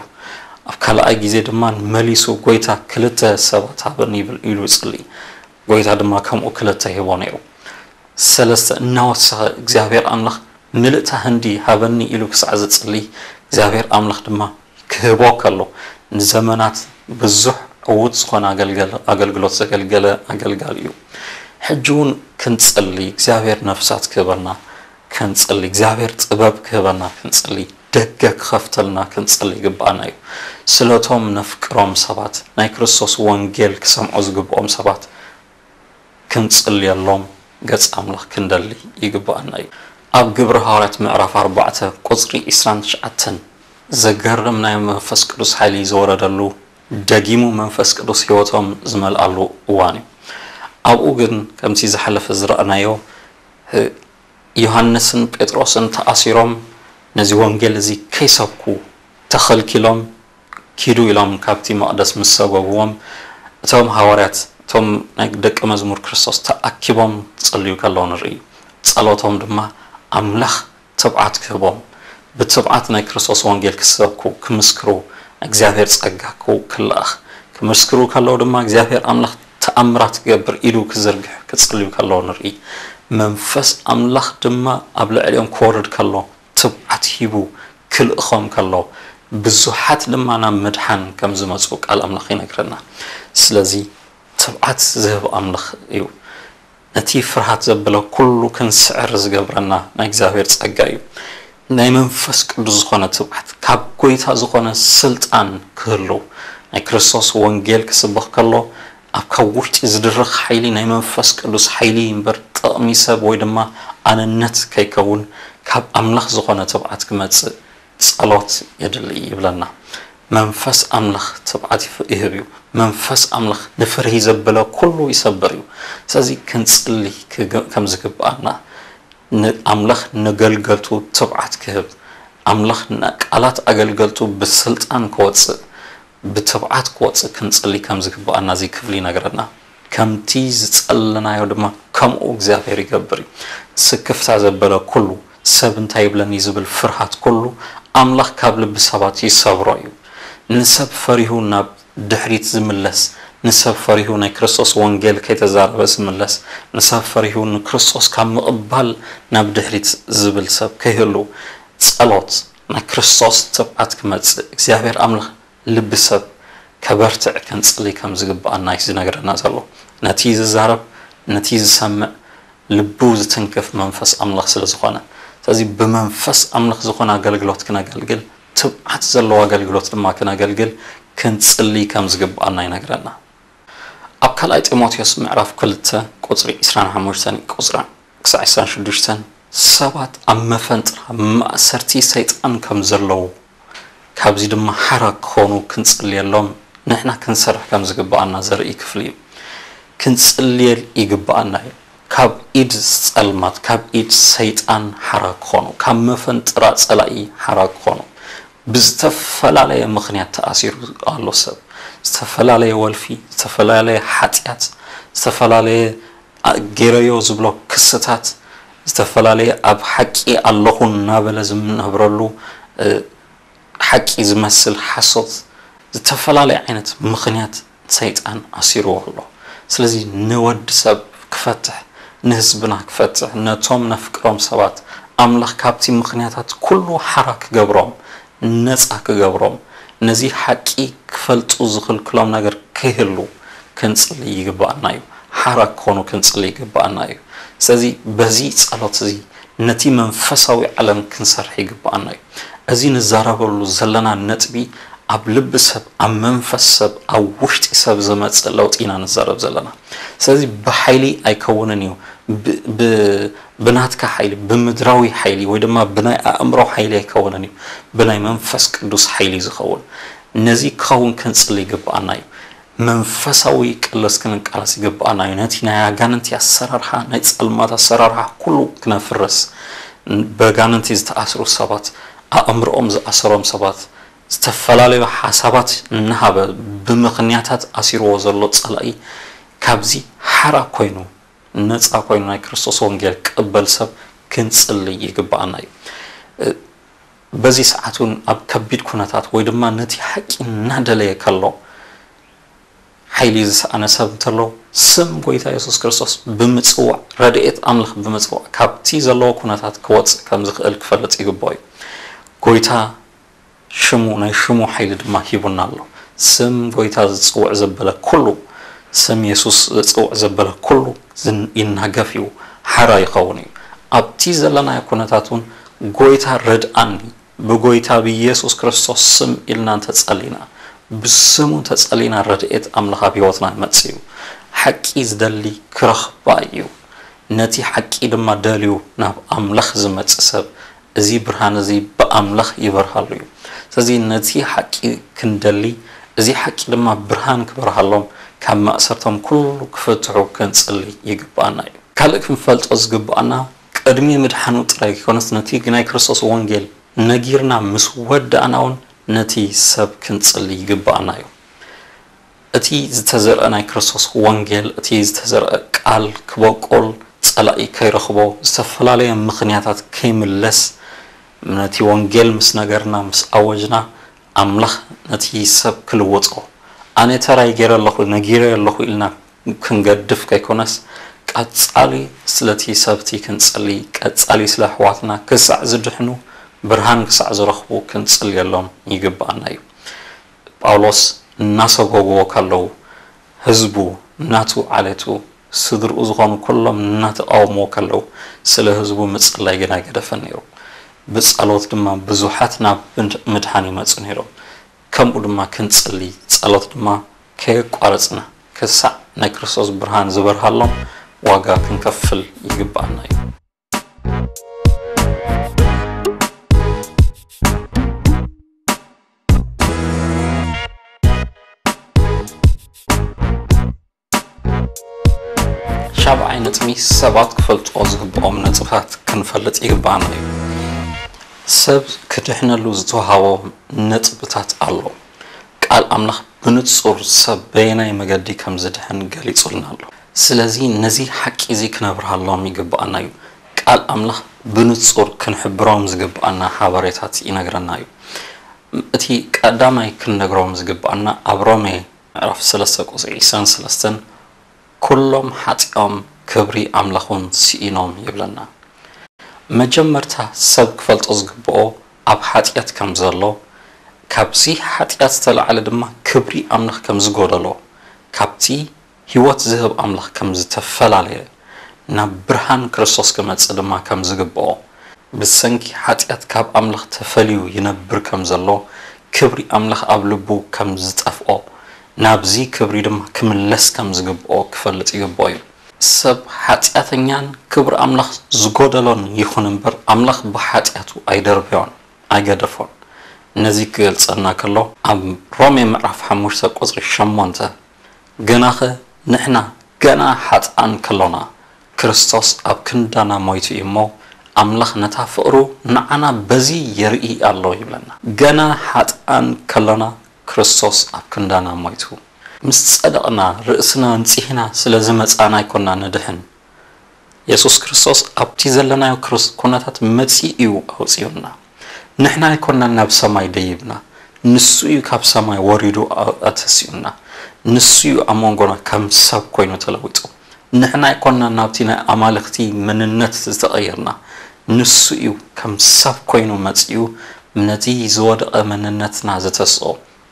ኣብ ካልኣይ ግዜ ድማ መሊሱ፣ "ጎይታ፣ ክልተ ሰባት ሃበኒ" ይብል ኢሉ ይጽሊ። ጎይታ ድማ ከምኡ ክልተ ይህቦ ነይሩ። ሰለስተ እናወሰኸ እግዚኣብሔር ኣምላኽ "ምልእታ ህንዲ ሃበኒ" ኢሉ ክሳዕ ዝጽሊ እግዚኣብሔር ኣምላኽ ድማ ክህቦ ከሎ፣ ንዘመናት ብዙሕ ዕዉት ዝኾነ ኣገልገል-፣ ኣገልግሎት ዘገልገለ ኣገልጋሊ እዩ። ሕጂ እውን ክንጽሊ፣ እግዚኣብሔር ነፍሳት ክህበና ክንጽሊ፣ እግዚኣብሔር ጥበብ ክህበና ክንጽሊ፣ ደገ ክኸፍተልና ክንጽሊ ይግብኣና እዩ። ስለቶም ነፍቅሮም ሰባት፣ ናይ ክርስቶስ ወንጌል ክሰምዑ ዝግብኦም ሰባት ክንጽልየሎም ገጽ ኣምላኽ ክንደሊ ይግብኣና እዩ። ኣብ ግብሪ ሃዋርያት ምዕራፍ ኣርባዕተ ቁጽሪ ዕስራን ትሽዓተን ዘገርም ናይ መንፈስ ቅዱስ ሓይሊ ዝወረደሉ፣ ደጊሙ መንፈስ ቅዱስ ህይወቶም ዝመልኣሉ እዋን እዩ። ኣብኡ ግን ከምቲ ዝሓለፈ ዝረኣናዮ፣ እ፣ ዮሃንስን ጴጥሮስን ተኣሲሮም ነዚ ወንጌል እዚ ከይሰብኩ ተኸልኪሎም፣ "ኪዱ" ኢሎም ካብቲ መቕደስ ምስ ሰጎግዎም፣ እቶም ሃዋርያት፣ እቶም ናይ ደቀ መዝሙር ክርስቶስ ተኣኪቦም ክጽልዩ ከለዉ ንርኢ። ጸሎቶም ድማ ኣምላኽ ትብዓት ክህቦም፣ ብትብዓት ናይ ክርስቶስ ወንጌል ክሰብኩ፣ ክምስክሩ፣ እግዚኣብሔር ጸጋ ክው-፣ ክልኣኽ፣ ክምስክሩ ከለዉ ድማ እግዚኣብሔር ኣምላኽ ተኣምራት ክገብር፣ ኢዱ ክዝርግሕ፣ ክጽልዩ ከለዉ ንርኢ። መንፈስ ኣምላኽ ድማ ኣብ ልዕሊኦም ክወርድ ከሎ፣ ትብዓት ሂቡ ክልእኾም ከሎ፣ ብዙሓት ድማ ናብ ምድሓን ከም ዝመጹ ቃል ኣምላኽ ይነግረና። ስለዚ ትብዓት ዝህብ ኣምላኽ እዩ። ነቲ ፍርሃት ዘብለ ኩሉ ክንስዕር ዝገብረና ናይ እግዚኣብሔር ጸጋ እዩ። ናይ መንፈስ ቅዱስ ዝኾነ ትብዓት፣ ካብ ጎይታ ዝኾነ ስልጣን ክህሉ፣ ናይ ክርስቶስ ወንጌል ክስበኽ ከሎ፣ ኣብ ካብ ውሽጢ ዝድርኽ ሓይሊ ናይ መንፈስ ቅዱስ ሓይሊ እምበር፣ ጥቕሚ ሰብ ወይ ድማ ኣነነት ከይከውን፣ ካብ ኣምላኽ ዝኾነ ትብዓት ክመጽእ ጸሎት የድሊ ይብለና። መንፈስ ኣምላኽ ትብዓት ይፍ-፣ ይህብ እዩ። መንፈስ ኣምላኽ ንፍርሂ ዘበለ ኩሉ ይሰብር እዩ። ስለዚ ክንጽሊ ክግ-፣ ከም ዝግብኣና፣ ንኣምላኽ ነገልገልቱ ትብዓት ክህብ፣ ኣምላኽ ንቃላት ኣገልገልቱ ብስልጣን ክወጽእ፣ ብትብዓት ክወጽእ ክንጽሊ ከም ዝግብኣና እዚ ክፍሊ ይነግረና። ከምቲ ዝጸለናዮ ድማ ከምኡ እግዚኣብሔር ይገብር እዩ። ስክፍታ ዘበለ ኩሉ፣ ሰብ እንታይ ይብለኒ ዝብል ፍርሃት ኩሉ፣ ኣምላኽ ካብ ልቢ ሰባት ይሰብሮ እዩ። ንሰብ ፈሪሁ ናብ ድሕሪት ዝምለስ፣ ንሰብ ፈሪሁ ናይ ክርስቶስ ወንጌል ከይተዛረበ ዝምለስ፣ ንሰብ ፈሪሁ ንክርስቶስ ካብ ምቕባል ናብ ድሕሪት ዝብል ሰብ ከይህሉ፣ ጸሎት ናይ ክርስቶስ ትብዓት ክመጽእ፣ እግዚኣብሔር ኣምላኽ ልቢ ሰብ ከበርትዕ ክንጽሊ ከም ዝግብኣና እዩ ዝነግረና ዘሎ። ነቲ ዝዛረብ፣ ነቲ ዝሰምዕ፣ ልቡ ዝትንክፍ መንፈስ ኣምላኽ ስለ ዝኾነ። ስለዚ ብመንፈስ ኣምላኽ ዝኾነ ኣገልግሎት ክነገልግል፣ ትብዓት ዘለዎ ኣገልግሎት ድማ ክነገልግል፣ ክንጽሊ ከም ዝግብኣና ይነግረና። ኣብ ካልኣይ ጢሞቴዎስ ምዕራፍ ክልተ ቁጽሪ ዕስራን ሓሙሽተን ቁጽሪ ክሳዕ ዕስራን ሽዱሽተን፣ ሰባት ኣብ መፈንጥራ ማእሰርቲ ሰይጣን ከም ዘለዉ፣ ካብዚ ድማ ሓራ ክኾኑ ክንጽልየሎም ንሕና ክንሰርሕ ከም ዝግብኣና ዘርኢ ክፍሊ እዩ። ክንጽልየል ይግብኣና እዩ። ካብ ኢድ ጸልማት፣ ካብ ኢድ ሰይጣን ሓራ ክኾኑ፣ ካብ መፈንጥራ ጸላኢ ሓራ ክኾኑ፣ ብዝተፈላለየ ምኽንያት ተኣሲሩ ኣሎ ሰብ። ዝተፈላለየ ወልፊ፣ ዝተፈላለየ ሓጢኣት፣ ዝተፈላለየ ኣ-፣ ገይረዮ ዝብሎ ክስታት፣ ዝተፈላለየ ኣብ ሓቂ ኣለኹ እናበለ ዝነብረሉ፣ እ፣ ሓቂ ዝመስል ሓሶት፣ ዝተፈላለየ ዓይነት ምኽንያት ሰይጣን ኣሲርዎ ኣሎ። ስለዚ ንወዲ ሰብ ክፈትሕ፣ ንህዝብና ክፈትሕ፣ ነቶም ነፍቅሮም ሰባት ኣምላኽ ካብቲ ምኽንያታት ኩሉ ሓራ ክገብሮም፣ ነጻ ክገብሮም፣ ነዚ ሓቂ ክፈልጡ ዝኽልክሎም ነገር ከይህሉ ክንጽሊ ይግብኣና እዩ። ሓራ ክኾኑ ክንጽሊ ይግብኣና እዩ። ስለዚ በዚ ጸሎት እዚ ነቲ መንፈሳዊ ዓለም ክንሰርሕ ይግብኣና እዩ። እዚ ንዛረበሉ ዘለና ነጥቢ ኣብ ልቢ ሰብ፣ ኣብ መንፈስ ሰብ፣ ኣብ ውሽጢ ሰብ ዝመጽእ ለውጢ ኢና ንዛረብ ዘለና። ስለዚ ብሓይሊ ኣይከውንን እዩ። ብ-፣ ብ-፣ ብናትካ ሓይሊ፣ ብምድራዊ ሓይሊ ወይ ድማ ብናይ ኣእምሮ ሓይሊ ኣይከውንን እዩ። ብናይ መንፈስ ቅዱስ ሓይሊ ዝኸውን። ነዚ ክኸውን ክንጽሊ ይግብኣና እዩ። መንፈሳዊ ቅልስ ክንቃለስ ይግብኣና እዩ። ነቲ ናይ ኣጋንንቲ ኣሰራርሓ፣ ናይ ጸልማት ኣሰራርሓ ኩሉ ክነፍርስ፣ በጋንንቲ ዝተኣስሩ ሰባት፣ ኣእምሮኦም ዝኣሰሮም ሰባት፣ ዝተፈላለዩ ሓሳባት እናሃበ ብምኽንያታት ኣሲርዎ ዘሎ ጸላኢ ካብዚ ሓራ ኮይኑ፣ ነጻ ኮይኑ ናይ ክርስቶስ ወንጌል ክቕበል ሰብ ክንጽሊ ይግብኣና እዩ። በዚ ሰዓት እውን ኣብ ከቢድ ኩነታት ወይ ድማ ነቲ ሓቂ እናደለየ ከሎ ሓይሊ ዝሰኣነ ሰብ እንተሎ፣ ስም ጎይታ የሱስ ክርስቶስ ብምጽዋዕ፣ ረድኤት ኣምላኽ ብምጽዋዕ ካብቲ ዘለዎ ኩነታት ክወጽእ ከም ዝኽእል ክፈልጥ ይግብኦ እዩ። ጎይታ ሽሙ፣ ናይ ሽሙ ሓይሊ ድማ ሂቡና ኣሎ። ስም ጎይታ ዝጽውዕ ዘበለ ኩሉ፣ ስም የሱስ ዝጽውዕ ዘበለ ኩሉ ዝን-፣ ይናገፍ እዩ፣ ሓራ ይኸውን እዩ። ኣብቲ ዘለናዮ ኩነታት እውን ጎይታ ረድኣኒ፣ ብጎይታ ብኢየሱስ ክርስቶስ ስም ኢልና እንተጸሊና፣ ብስሙ እንተጸሊና ረድኤት ኣምላኽ ኣብ ህይወትና ይመጽእ እዩ። ሓቂ ዝደሊ ክረኽባ እዩ። ነቲ ሓቂ ድማ ደልዩ ናብ ኣምላኽ ዝመጽእ ሰብ፣ እዚ ብርሃን እዚ ብኣምላኽ ይበርሃሉ እዩ። ስለዚ ነቲ ሓቂ ክንደሊ፣ እዚ ሓቂ ድማ ብርሃን ክበርሃሎም፣ ካብ ማእሰርቶም ኩሉ ክፍትሑ ክንጽሊ ይግብኣና እዩ። ካልእ ክንፈልጦ ዝግብኣና፣ ቅድሚ ምድሓኑ ጥራይ ከይኮነስ ነቲ ናይ ክርስቶስ ወንጌል ነጊርና ምስ ወዳእና እውን ነቲ ሰብ ክንጽሊ ይግብኣና እዩ። እቲ ዝተዘርአ ናይ ክርስቶስ ወንጌል፣ እቲ ዝተዘርአ ቃል ክበቁል፣ ጸላኢ ከይረኽቦ፣ ዝተፈላለየ ምኽንያታት ከይምለስ፣ ነቲ ወንጌል ምስ ነገርና፣ ምስ ኣወጅና፣ ኣምላኽ ነቲ ሰብ ክልውጦ፣ ኣነ ተራይ ገይረ ኣለኹ፣ ነጊረ ኣለኹ ኢልና ክንገድፍ ከይኮነስ፣ ቀጻሊ ስለቲ ሰብቲ ክንጸሊ፣ ቀጻሊ ስለ ኣሕዋትና ክሳዕ ዝድሕኑ፣ ብርሃን ክሳዕ ዝረኽቡ ክንጽልየሎም ይግብኣና እዩ። ጳውሎስ እናሰጎግዎ ከለዉ፣ ህዝቡ፣ ናቱ ዓሌቱ፣ ስድርኡ ዝኾኑ ኩሎም እናተቃወምዎ ከለዉ፣ ስለ ህዝቡ ምጽላይ ግን ኣይገደፈን ነይሩ። ብጸሎት ድማ ብዙሓት ናብ ምድ-፣ ምድሓን ይመጹ ነይሮም። ከምኡ ድማ ክንጽሊ፣ ጸሎት ድማ ከየቋረጽና፣ ክሳዕ ናይ ክርስቶስ ብርሃን ዝበርሃሎም ዋጋ ክንከፍል ይግብኣና እዩ። ሻብዓይ ነጥቢ፣ ሰባት ክፈልጥዎ ዝግብኦም ነጥብታት ክንፈልጥ ይግብኣና እዩ። ሰብ ክድሕነሉ ዝተዋሃቦ ነጥብታት ኣሎ። ቃል ኣምላኽ ብንጹር ሰብ በየናይ መገዲ ከም ዝድሕን ገሊጹልና ኣሎ። ስለዚ ነዚ ሓቂ እዚ ክነብርሃሎም ይግብኣና እዩ። ቃል ኣምላኽ ብንጹር ክንሕብሮም ዝግብኣና ሓበሬታት ይነግረና እዩ። እቲ ቀዳማይ ክንነግሮም ዝግብኣና ኣብ ሮሜ ምዕራፍ ሰለስተ ቁጽሪ ዕስራን ሰለስተን፣ "ኩሎም ሓጢኦም ክብሪ ኣምላኽ እውን ስኢኖም" ይብለና። መጀመርታ ሰብ ክፈልጦ ዝግብኦ ኣብ ሓጢኣት ከም ዘሎ፣ ካብዚ ሓጢኣት ዝተላዕለ ድማ ክብሪ ኣምላኽ ከም ዝጎደሎ፣ ካብቲ ህይወት ዝህብ ኣምላኽ ከም ዝተፈላለየ፣ ናብ ብርሃን ክርስቶስ ክመጽእ ድማ ከም ዝግብኦ፣ ብሰንኪ ሓጢኣት ካብ ኣምላኽ ተፈልዩ ይነብር ከም ዘሎ፣ ክብሪ ኣምላኽ ኣብ ልቡ ከም ዝጠፍኦ፣ ናብዚ ክብሪ ድማ ክምለስ ከም ዝግብኦ ክፈልጥ ይግብኦ እዩ። ሰብ ሓጢኣተኛን ክብሪ ኣምላኽ ዝጎደሎን ይኹን እምበር፣ ኣምላኽ ብሓጢኣቱ ኣይደርበዮን፣ ኣይገደፎን። ነዚ ክገልጸልና ከሎ፣ ኣብ ሮሜ ምዕራፍ ሓሙሽተ ቁጽሪ ሸሞንተ፣ "ግናኸ ንሕና ገና ሓጥኣን ከሎና፣ ክርስቶስ ኣብ ክንዳና ሞይቱ እዩ እሞ፣ ኣምላኽ ነታ ፍቕሩ ንዓና በዚ የርኢ ኣሎ" ይብለና። ገና ሓጥኣን ከሎና፣ ክርስቶስ ኣብ ክንዳና ሞይቱ። ምስ ጸደቕና፣ ርእስና ኣንጺህና ስለ ዝመጻና ኣይኮና ንድሕን። የሱስ ክርስቶስ ኣብቲ ዘለናዮ ክርስ-፣ ኩነታት መጺኡ እዩ ኣውጺኡና። ንሕና ኣይኮናን ናብ ሰማይ ደይብና፣ ንሱ እዩ ካብ ሰማይ ወሪዱ ኣ-፣ ኣተሲኡና። ንሱ እዩ ኣብ መንጎና ከም ሰብ ኮይኑ ተለዊጡ። ንሕና ኣይኮናን ናብቲ ናይ ኣማልኽቲ መንነት ዝተቐየርና፣ ንሱ እዩ ከም ሰብ ኮይኑ መጺኡ ነቲ ዝወደቐ መንነትና ዝተስኦ።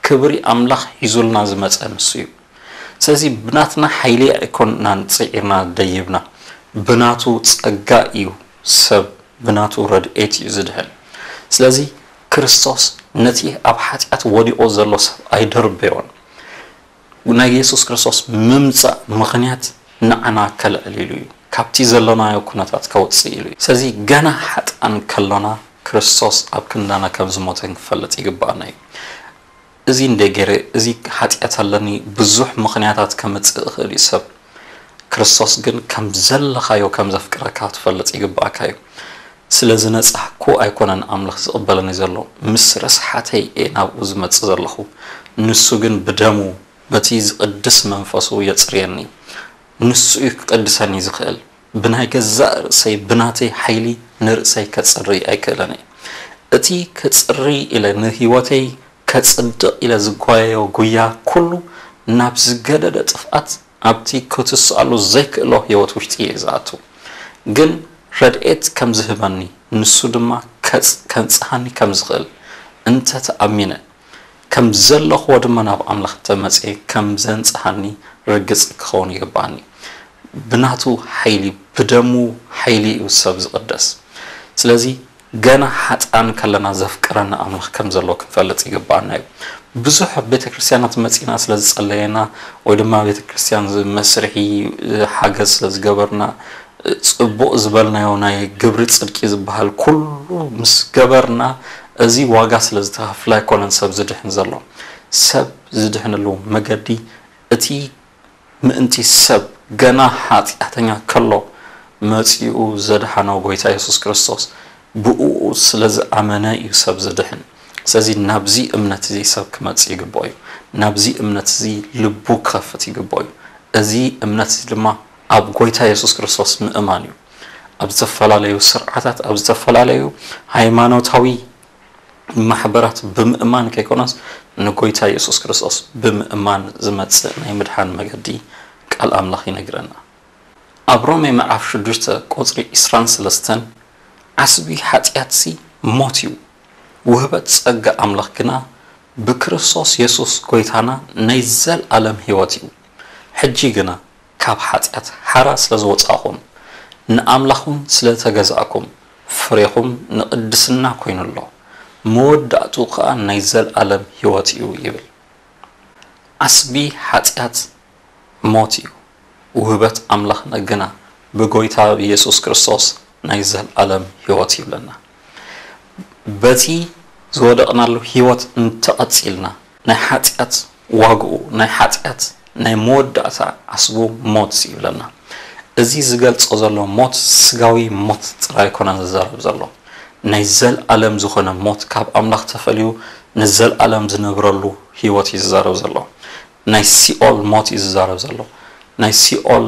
ክብሪ ኣምላኽ ሒዙልና ዝመጸ ንሱ እዩ። ስለዚ ብናትና ሓይሊ ኣይኮናን ጽዒርና ደይብና፣ ብናቱ ጸጋ እዩ ሰብ፣ ብናቱ ረድኤት እዩ ዝድሕን። ስለዚ ክርስቶስ ነቲ ኣብ ሓጢኣት ወዲቑ ዘሎ ሰብ ኣይደርበዮን። ናይ የሱስ ክርስቶስ ምምጻእ ምኽንያት ንዓና ከልዕል ኢሉ እዩ፣ ካብቲ ዘለናዮ ኩነታት ከውጽእ ኢሉ እዩ። ስለዚ ገና ሓጥኣን ከሎና ክርስቶስ ኣብ ክንዳና ከም ዝሞተ ክንፈልጥ ይግባኣና እዩ። እዚ እንደ ገይረ፣ እዚ ሓጢኣት ኣለኒ፣ ብዙሕ ምኽንያታት ከምጽእ እኽእል እዩ ሰብ። ክርስቶስ ግን ከም ዘለኻዮ ከም ዘፍቅረካ ክትፈልጥ ይግባኣካ እዩ። ስለ ዝነጻህኩ ኣይኮነን ኣምላኽ ዝቕበለኒ ዘሎ፣ ምስ ርስሓተይ እየ ናብኡ ዝመጽእ ዘለኹ። ንሱ ግን ብደሙ በቲ ዝቕድስ መንፈሱ የጽርየኒ። ንሱ እዩ ክቕድሰኒ ዝኽእል። ብናይ ገዛእ ርእሰይ፣ ብናተይ ሓይሊ ንርእሰይ ከጽሪ ኣይክእልን እየ። እቲ ክጽሪ ኢለ ንህይወተይ ከጽድቕ ኢለ ዝጓየዮ ጉያ ኩሉ ናብ ዝገደደ ጥፍኣት ኣብቲ ክትስኣሉ ዘይክእሎ ህይወት ውሽጢ እየ ዝኣቱ። ግን ረድኤት ከም ዝህበኒ ንሱ ድማ ከንጽሃኒ ከም ዝኽእል እንተ ተኣሚነ ከም ዘለኽዎ ድማ ናብ ኣምላኽ ተመጽየ ከም ዘንጽሃኒ ርግጽ ክኸውን ይግባኣኒ። ብናቱ ሓይሊ ብደሙ ሓይሊ እዩ ሰብ ዝቕደስ። ስለዚ ገና ሓጥኣን ከለና ዘፍቅረና ኣምላኽ ከም ዘሎ ክንፈልጥ ይግባኣና እዩ። ብዙሕ ቤተ ክርስቲያናት መጺና ስለ ዝጸለየና ወይ ድማ ቤተ ክርስቲያን መስርሒ ሓገዝ ስለ ዝገበርና ጽቡቕ ዝበልናዮ ናይ ግብሪ ጽድቂ ዝበሃል ኩሉ ምስ ገበርና እዚ ዋጋ ስለ ዝተኸፍለ ኣይኮነን ሰብ ዝድሕን ዘሎ። ሰብ ዝድሕንሉ መገዲ እቲ ምእንቲ ሰብ ገና ሓጢኣተኛ ከሎ መጺኡ ዘድሓኖ ጎይታ የሱስ ክርስቶስ ብእኡ ስለ ዝኣመነ እዩ ሰብ ዝድሕን። ስለዚ ናብዚ እምነት እዚ ሰብ ክመጽእ ይግብኦ እዩ። ናብዚ እምነት እዚ ልቡ ክኸፍት ይግብኦ እዩ። እዚ እምነት እዚ ድማ ኣብ ጎይታ የሱስ ክርስቶስ ምእማን እዩ። ኣብ ዝተፈላለዩ ስርዓታት ኣብ ዝተፈላለዩ ሃይማኖታዊ ማሕበራት ብምእማን ከይኮነስ ንጎይታ የሱስ ክርስቶስ ብምእማን ዝመጽእ ናይ ምድሓን መገዲ ቃል ኣምላኽ ይነግረና። ኣብ ሮሜ ምዕራፍ ሽዱሽተ ቁጽሪ ዕስራን ሰለስተን ዓስቢ ሓጢኣትሲ ሞት እዩ፣ ውህበት ጸጋ ኣምላኽ ግና ብክርስቶስ የሱስ ጎይታና ናይ ዘልኣለም ህይወት እዩ። ሕጂ ግና ካብ ሓጢኣት ሓራ ስለ ዝወጻእኹም ንኣምላኽ እውን ስለ ተገዛእኩም ፍሬኹም ንቕድስና ኮይኑ ኣሎ፣ መወዳእትኡ ኸኣ ናይ ዘልኣለም ህይወት እዩ ይብል። ዓስቢ ሓጢኣት ሞት እዩ፣ ውህበት ኣምላኽ ግና ብጎይታ ብየሱስ ክርስቶስ ናይ ዘልኣለም ህይወት ይብለና። በቲ ዝወደቕናሉ ህይወት እንተቐጺልና ናይ ሓጢኣት ዋግኡ ናይ ሓጢኣት ናይ መወዳእታ ዓስቡ ሞት ይብለና። እዚ ዝገልጾ ዘሎ ሞት ስጋዊ ሞት ጥራይ ኣይኮነን ዝዛረብ ዘሎ። ናይ ዘልኣለም ዝኾነ ሞት ካብ ኣምላኽ ተፈልዩ ንዘልኣለም ዝነብረሉ ህይወት እዩ ዝዛረብ ዘሎ። ናይ ሲኦል ሞት እዩ ዝዛረብ ዘሎ። ናይ ሲኦል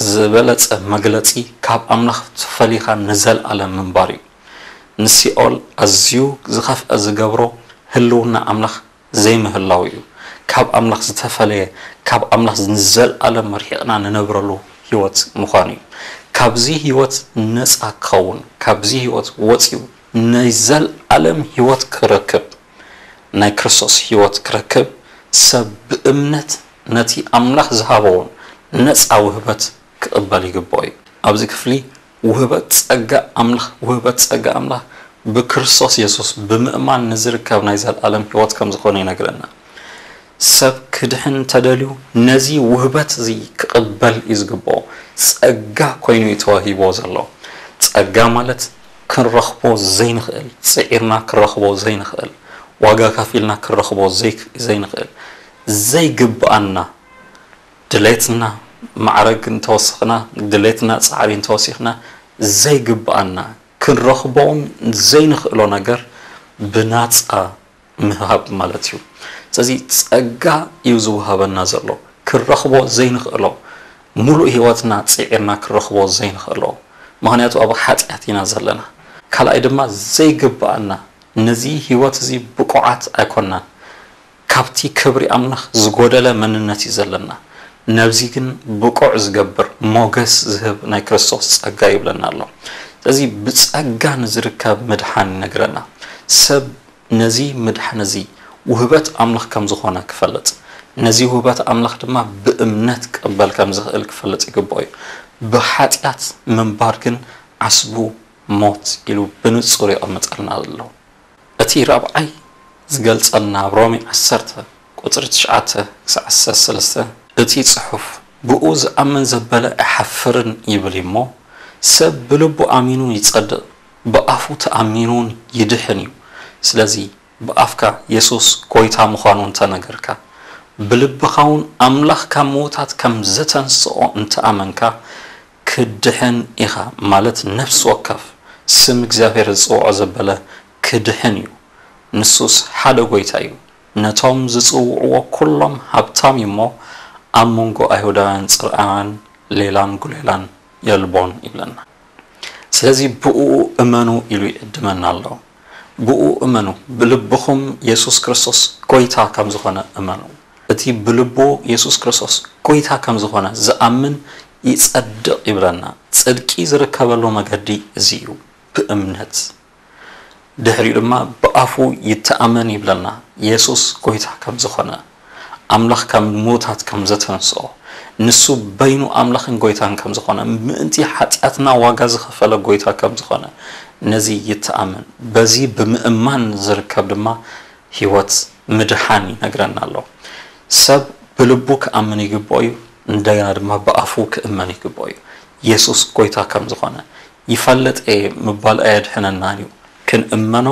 ዝበለጸ መግለጺ ካብ ኣምላኽ ተፈሊኻ ንዘልኣለም ምንባር እዩ። ንሲኦል ኣዝዩ ዝኸፍአ ዝገብሮ ህልውና ኣምላኽ ዘይምህላው እዩ። ካብ ኣምላኽ ዝተፈለየ ካብ ኣምላኽ ንዘልኣለም ርሒቕና ንነብረሉ ህይወት ምዃኑ እዩ። ካብዚ ህይወት ነጻ ክኸውን ካብዚ ህይወት ወጺኡ ናይ ዘልኣለም ህይወት ክረክብ ናይ ክርስቶስ ህይወት ክረክብ ሰብ ብእምነት ነቲ ኣምላኽ ዝሃበውን ነጻ ውህበት ክቕበል ይግብኦ እዩ። ኣብዚ ክፍሊ ውህበት ጸጋ ኣምላኽ ውህበት ጸጋ ኣምላኽ ብክርስቶስ የሱስ ብምእማን ንዝርከብ ናይ ዘለኣለም ህይወት ከም ዝኾነ ይነግረና። ሰብ ክድሕን እንተደልዩ ነዚ ውህበት እዚ ክቕበል እዩ ዝግብኦ። ጸጋ ኮይኑ እዩ ተዋሂብዎ ዘሎ። ጸጋ ማለት ክንረኽቦ ዘይንኽእል፣ ጽዒርና ክንረኽቦ ዘይንኽእል፣ ዋጋ ከፊልና ክንረኽቦ ዘይክ- ዘይንኽእል፣ ዘይግብኣና ድሌትና ማዕረግ እንተወሰኽና፣ ድሌትና ጻዕሪ እንተወሲኽና ዘይግብኣና ክንረኽቦውን ዘይንኽእሎ ነገር ብናጻ ምህሃብ ማለት እዩ። ስለዚ ጸጋ እዩ ዝወሃበና ዘሎ፣ ክንረኽቦ ዘይንኽእሎ፣ ሙሉእ ህይወትና ጽዒርና ክንረኽቦ ዘይንኽእሎ። ምኽንያቱ ኣብ ሓጢኣት ኢና ዘለና። ካልኣይ ድማ ዘይግብኣና፣ ነዚ ህይወት እዚ ብቑዓት ኣይኮናን። ካብቲ ክብሪ ኣምላኽ ዝጎደለ መንነት እዩ ዘለና። ነዚ ግን ብቑዕ ዝገብር ሞገስ ዝህብ ናይ ክርስቶስ ጸጋ ይብለና ኣሎ። ስለዚ ብጸጋ ንዝርከብ ምድሓን ይነግረና። ሰብ ነዚ ምድሓን እዚ ውህበት ኣምላኽ ከም ዝኾነ ክፈልጥ፣ ነዚ ውህበት ኣምላኽ ድማ ብእምነት ክቕበል ከም ዝኽእል ክፈልጥ ይግብኦ እዩ። ብሓጢኣት ምንባር ግን ዓስቡ ሞት ኢሉ ብንጹር የቐምጠልና ኣሎ። እቲ ራብዓይ ዝገልጸልና ኣብ ሮሜ ዓሰርተ ቁጽሪ ትሽዓተ ክሳዕ ዓሰርተ ሰለስተ እቲ ጽሑፍ ብኡ ዝኣምን ዘበለ ኣይሓፍርን ይብል እሞ፣ ሰብ ብልቡ ኣሚኑ ይጸድቕ፣ ብኣፉ ተኣሚኑን ይድሕን እዩ። ስለዚ ብኣፍካ የሱስ ጎይታ ምዃኑ እንተነገርካ፣ ብልብኻ እውን ኣምላኽ ካብ ምዉታት ከም ዘተንስኦ እንተኣመንካ፣ ክድሕን ኢኻ፣ ማለት ነፍሲ ወከፍ ስም እግዚኣብሔር ዝጽውዖ ዘበለ ክድሕን እዩ። ንሱስ ሓደ ጎይታ እዩ። ነቶም ዝጽውዕዎ ኩሎም ሃብታም እዩ እሞ፣ ኣብ መንጎ ኣይሁዳውያን ጽርኣውያን ሌላን ጉሌላን የልቦን ይብለና። ስለዚ ብእኡ እመኑ ኢሉ ይዕድመና ኣሎ። ብኡ እመኑ፣ ብልብኹም የሱስ ክርስቶስ ጐይታ ከም ዝኾነ እመኑ። እቲ ብልቡ የሱስ ክርስቶስ ጐይታ ከም ዝኾነ ዝኣምን ይጸድቕ ይብለና። ጽድቂ ዝርከበሉ መገዲ እዚ እዩ፣ ብእምነት። ድሕሪኡ ድማ ብኣፉ ይተኣመን ይብለና፣ የሱስ ጐይታ ከም ዝኾነ፣ ኣምላኽ ካብ ምዉታት ከም ዘተንስኦ፣ ንሱ በይኑ ኣምላኽን ጐይታን ከም ዝኾነ፣ ምእንቲ ሓጢኣትና ዋጋ ዝኸፈለ ጐይታ ከም ዝኾነ፣ ነዚ ይተኣመን። በዚ ብምእማን ዝርከብ ድማ ህይወት ምድሓን ይነግረና ኣሎ። ሰብ ብልቡ ክኣምን ይግብኦ እዩ፣ እንደገና ድማ ብኣፉ ክእመን ይግብኦ እዩ። የሱስ ጐይታ ከም ዝኾነ ይፈልጥ እየ ምባል ኣየድሕነናን እዩ። ክንእመኖ፣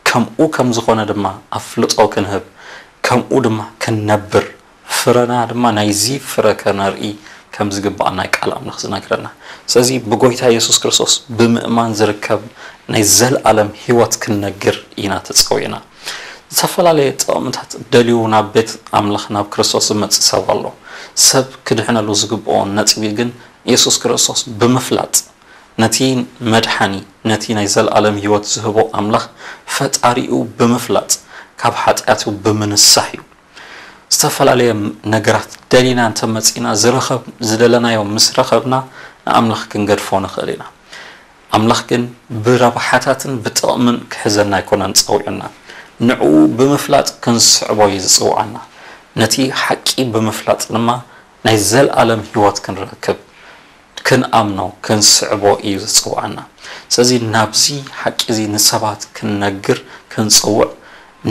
ከምኡ ከም ዝኾነ ድማ ኣፍልጦ ክንህብ፣ ከምኡ ድማ ክንነብር፣ ፍረና ድማ ናይዚ ፍረ ከነርኢ ከም ዝግባእ ናይ ቃል ኣምላኽ ዝነግረና። ስለዚ ብጎይታ የሱስ ክርስቶስ ብምእማን ዝርከብ ናይ ዘልኣለም ህይወት ክንነግር ኢና ተጸዊዕና። ዝተፈላለየ ጥቕምታት ደልዩ ናብ ቤት ኣምላኽ ናብ ክርስቶስ ዝመጽእ ሰብ ኣሎ። ሰብ ክድሕነሉ ዝግብኦ ነጥቢ ግን የሱስ ክርስቶስ ብምፍላጥ፣ ነቲ መድሓኒ፣ ነቲ ናይ ዘልኣለም ህይወት ዝህቦ ኣምላኽ ፈጣሪኡ ብምፍላጥ፣ ካብ ሓጢኣቱ ብምንሳሕ እዩ። ዝተፈላለየ ነገራት ደሊና እንተመጺና፣ ዝረኸብ-፣ ዝደለናዮ ምስ ረኸብና ንኣምላኽ ክንገድፎ ንኽእል ኢና። ኣምላኽ ግን ብረብሓታትን ብጥቕምን ክሕዘና ኣይኮነን ጸዊዑና። ንዕኡ ብምፍላጥ ክንስዕቦ እዩ ዝጽውዓና። ነቲ ሓቂ ብምፍላጥ ድማ ናይ ዘልኣለም ህይወት ክንረክብ፣ ክንኣምኖ፣ ክንስዕቦ እዩ ዝጽውዓና። ስለዚ ናብዚ ሓቂ እዚ ንሰባት ክንነግር ክንጽውዕ፣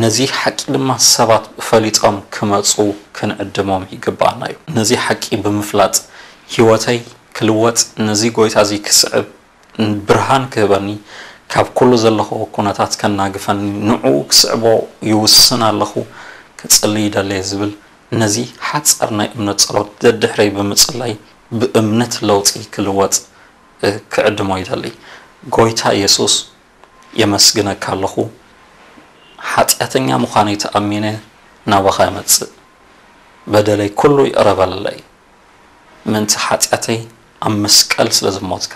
ነዚ ሓቂ ድማ ሰባት ፈሊጦም ክመጹ ክንዕድሞም ይግብኣና እዩ። ነዚ ሓቂ ብምፍላጥ ህይወተይ ክልወጥ፣ ነዚ ጎይታ እዚ ክስዕብ ብርሃን ክህበኒ፣ ካብ ኩሉ ዘለኹዎ ኩነታት ከናግፈኒ፣ ንዕኡ ክስዕቦ ይውስን ኣለኹ፣ ክጽሊ ይደሊ እየ ዝብል ነዚ ሓጻር ናይ እምነት ጸሎት ደድሕረይ ብምጽላይ ብእምነት ለውጢ ክልወጥ፣ እ፣ ክዕድሞ ይደሊ። ጎይታ የሱስ የመስግነካ ኣለኹ። ሓጢኣተኛ ምዃነይ ተኣሚነ ናባኻ እመጽእ። በደለይ ኩሉ ይቕረ በለለይ። ምእንቲ ሓጢኣተይ ኣብ መስቀል ስለ ዝሞትካ፣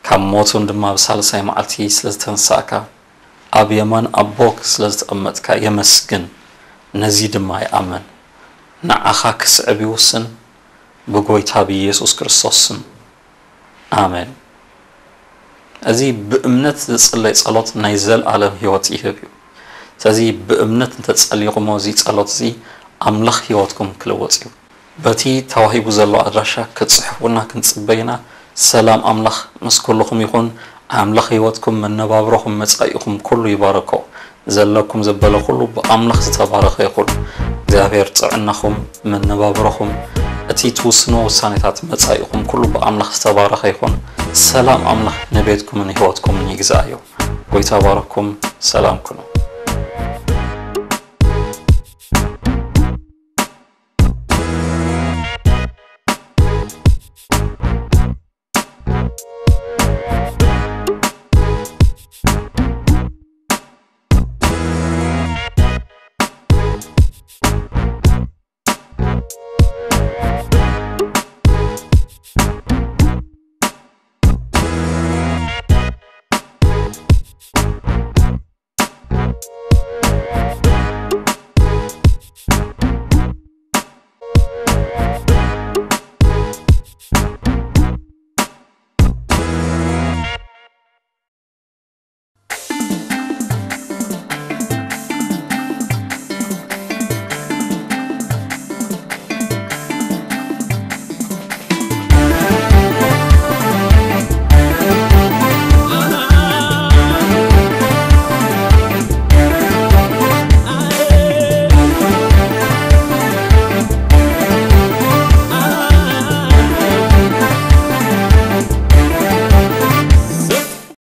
ካብ ሞት እውን ድማ ብሳልሳይ መዓልቲ ስለ ዝተንሳእካ፣ ኣብ የማን ኣቦክ ስለ ዝተቐመጥካ የመስግን። ነዚ ድማ ይኣምን። ንዓኻ ክስዕብ ይውስን። ብጎይታ ብኢየሱስ ክርስቶስ ስም። ኣሜን። እዚ ብእምነት ዝጽለይ ጸሎት ናይ ዘልኣለም ህይወት ይህብ እዩ። ስለዚ ብእምነት እንተጸሊኹሞ እዚ ጸሎት እዚ ኣምላኽ ህይወትኩም ክልወጥ እዩ። በቲ ተዋሂቡ ዘሎ ኣድራሻ ክትጽሕፉና ክንጽበይ ኢና። ሰላም ኣምላኽ ምስ ኩልኹም ይኹን። ኣምላኽ ህይወትኩም፣ መነባብሮኹም፣ መጻኢኹም ኩሉ ይባርኮ። ዘለኩም ዘበለ ኩሉ ብኣምላኽ ዝተባረኸ ይኹን። እግዚኣብሔር ጥዕናኹም፣ መነባብሮኹም፣ እቲ ትውስኖ ውሳኔታት መጻኢኹም ኩሉ ብኣምላኽ ዝተባረኸ ይኹን። ሰላም ኣምላኽ ንቤትኩምን ህይወትኩምን ይግዛእዮ። ጎይታ ባረኩም። ሰላም ኩኑ።